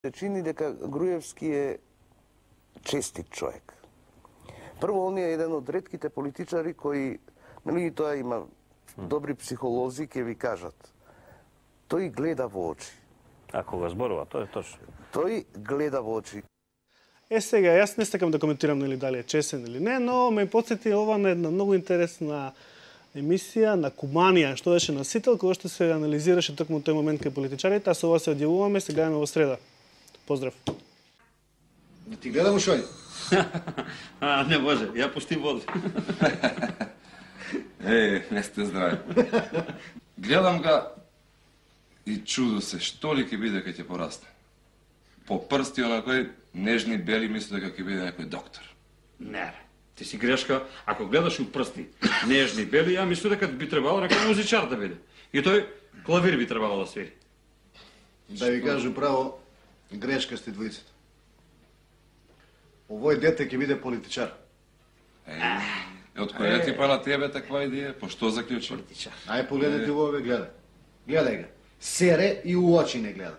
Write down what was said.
Се чини дека Груевски е честит човек. Прво, он е еден од ретките политичари кои, нели тоа има добри психолози, ќе ви кажат. Тој гледа во очи. Ако го зборува, тоа е точно. Тој гледа во очи. Сега, јас не сакам да коментирам дали е честен или не, но ме потсети ова на една многу интересна емисија на Куманија, што беше на Сител, кога што се анализираше токму тој момент кај политичарите, а со ова се одјавуваме, се гледаме во среда. Поздрав. Не ти гледам ушој. Не може, ја пусти води. Не сте здрави. Гледам га и чудо се, што ли ќе биде кога ќе порасне. По прсти онакој нежни бели мисли дека ќе биде некој доктор. Не, ти си грешка. Ако гледаш у прсти нежни бели, ја мислам дека би требало некој музичар да биде. И тој клавир би требало да свири. Да ви кажу право, грешка сте двојцата. Овој дете ќе биде политичар. Од која ти па на тебе таква идеја? По што заклучи? Ај погледнете во ове, гледај. Гледај га. Сере и у очи не гледа.